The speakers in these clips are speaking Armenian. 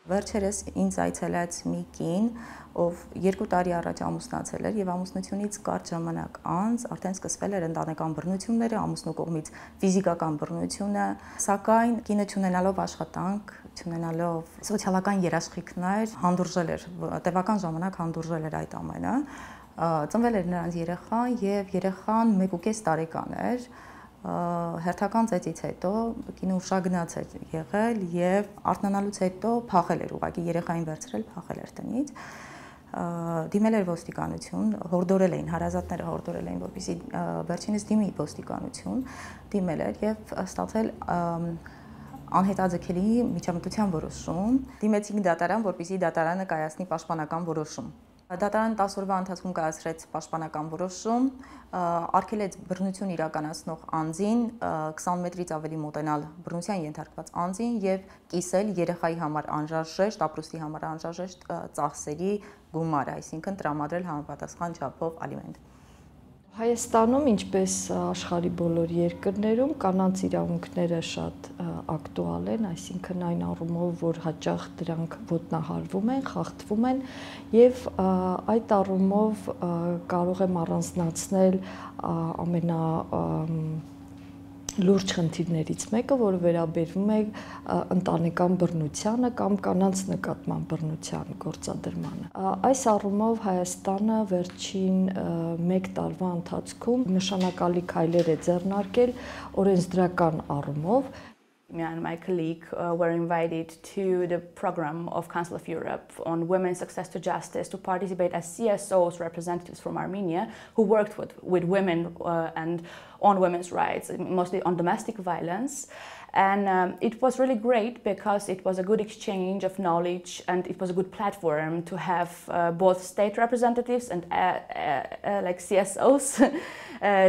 Վերջերս ինձ այցելեց մի կին, ով 2 տարի առաջ ամուսնացել էր եւ ամուսնությունից կարճ ժամանակ անց արդեն սկսվել էր ընտանեկան բռնությունները, ամուսնու կողմից ֆիզիկական բռնությունը, սակայն կինը չունենալով աշխատանք, չունենալով սոցիալական երաշխիքներ, հանդուրժել էր, տևական ժամանակ հանդուրժել էր այդ ամենը։ Ծնվել էր նրանց երեխան եւ երեխան 1.5 տարեկան էր։ Հերթական ծեծից հետո կինը ուշագնաց էր եղել եւ արթնանալուց հետո փախել էր, ուղղակի երեխային վերցրել, փախել էր տնից, դիմել էր ոստիկանություն, հորդորել էին, հարազատները հորդորել էին, որպեսզի վերջինս դիմի ոստիկանություն, դիմել էր եւ ստացել անհետաձգելի միջամտության որոշում, դիմեցինք դատարան, որպեսզի դատարանը կայացնի պաշտպանական որոշում։ Դատարանը 10 օրվա ընթացքում կայացրեց պաշտպանական որոշում, արգելեց բռնություն իրականացնող անձին 20 մետրից ավելի մոտենալ բռնության ենթարկված անձին եւ կիսել երեխայի համար անհրաժեշտ, ապրուստի համար անհրաժեշտ ծախսերի գումար, այսինքն տրամադրել համապատասխան չափով ալիմենտ։ Հայաստանում, ինչպես աշխարհի բոլոր երկրներում, կանանց իրավունքները շատ ակտուալ են, այսինքն այն առումով, որ հաճախ դրանք ոտնահարվում են, խախտվում են եւ այդ առումով կարող եմ առանձնացնել լուրջ խնդիրներից մեկը, որը վերաբերվում է ընտանեկան բռնությանը կամ կանանց նկատմամբ բռնության գործադրմանը։ Այս առումով Հայաստանը վերջին 1 տարվա ընթացքում նշանակալի քայլեր է ձեռնարկել օրենսդրական առումով։ Me and my colleague were invited to the program of Council of Europe on women's access to justice to participate as CSOs, representatives from Armenia, who worked with women and on women's rights, mostly on domestic violence. And it was really great because it was a good exchange of knowledge and it was a good platform to have both state representatives and like CSOs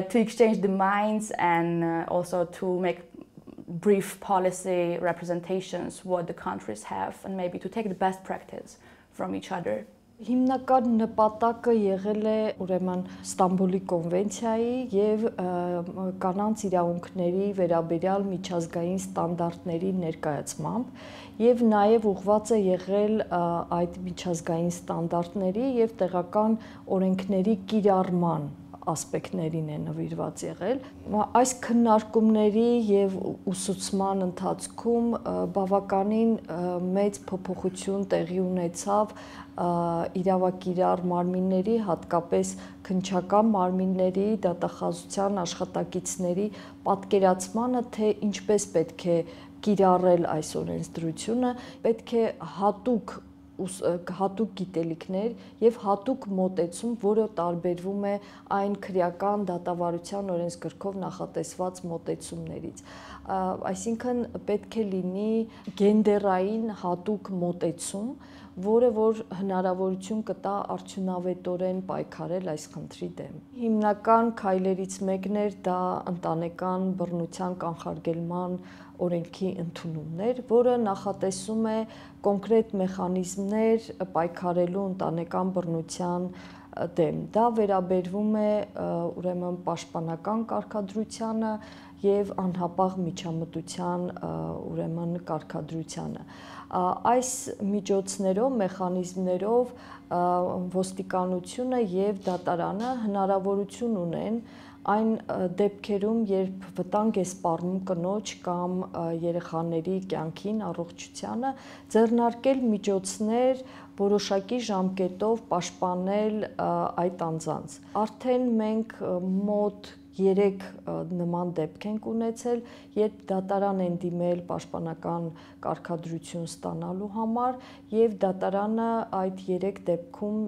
to exchange the minds and also to make brief policy representations what the countries have and maybe to take the best practice from each other. Հիմնական նպատակը եղել է ուրեմն Ստամբուլի կոնվենցիայի եւ կանանց իրավունքների վերաբերյալ միջազգային ստանդարտների ներկայացմամբ եւ նաեւ ուղղված է եղել այդ միջազգային ստանդարտների եւ տեղական օրենքների կիրառման ասպեկտներին է նվիրված եղել։ Այս քննարկումների եւ ուսուցման ընթացքում բավականին մեծ փոփոխություն տեղի ունեցավ իրավակիրառ մարմինների, հատկապես քննչական մարմինների, դատախազության աշխատակիցների պատկերացմանը, թե ինչպես պետք է կիրառել այս օրենսդրությունը, պետք է հատուկ գիտելիքներ եւ հատուկ մոտեցում, որը տարբերվում է այն քրեական դատավարության օրենսգրքով նախատեսված մոտեցումներից։ Այսինքն պետք է լինի գենդերային հատուկ մոտեցում, որը որ հնարավորություն կտա արդյունավետորեն պայքարել այս խնդրի դեմ։ Հիմնական քայլերից մեկն էր դա ընտանեկան բռնության կանխարգելման օրենքի ընդունումներ, որը նախատեսում է կոնկրետ մեխանիզմներ պայքարելու ընտանեկան բռնության դեմ։ Դա վերաբերվում է ուրեմն պաշտպանական կարգադրությանը եւ անհապաղ միջամտության ուրեմն կարգադրությանը։ Այս միջոցներով, մեխանիզմներով ոստիկանությունը եւ դատարանը հնարավորություն ունեն այն դեպքերում, երբ վտանգ է սպառնում կնոջ կամ երեխաների կյանքին, առողջությանը, ձեռնարկել միջոցներ որոշակի ժամկետով պաշտպանել այդ անձանց։ Արդեն մենք մոտ 3 նման դեպք ենք ունեցել, երբ դատարան են դիմել պաշտպանական կարգադրություն ստանալու համար եւ դատարանը այդ 3 դեպքում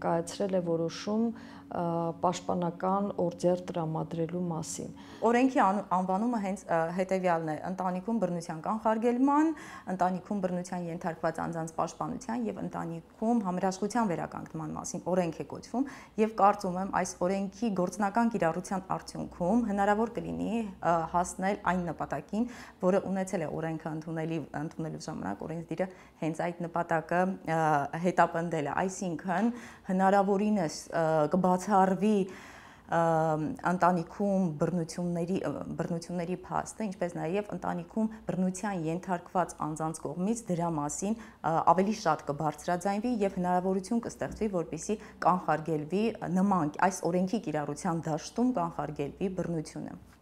կայացրել է որոշում պաշտպանական օրձեր տրամադրելու մասին։ Օրենքի անվանումը հենց հետևյալն է՝ ընտանիքում բռնության կանխարգելման, ընտանիքում բռնության ենթարկված անձանց պաշտպանության եւ ընտանիքում համերաշխության վերականգնման մասին օրենք է կոչվում եւ կարծում եմ այս օրենքի գործնական կիրառության արդյունքում հնարավոր կլինի հասնել այն նպատակին, որը ունեցել է օրենքը ընդունելու ժամանակ օրենսդիրը հենց այդ նպատակը հետապնդել է, այսինքն հնարավորինս կբացառվի ընտանիքում բռնությունների փաստը, ինչպես նաև ընտանիքում բռնության ենթարկված անձանց կողմից դրա մասին ավելի շատ կբարձրաձայնվի եւ հնարավորություն կստեղծվի, որպեսզի կանխարգելվի նման այս օրենքի կիրառության դաշտում կանխարգելվի բռնությունը։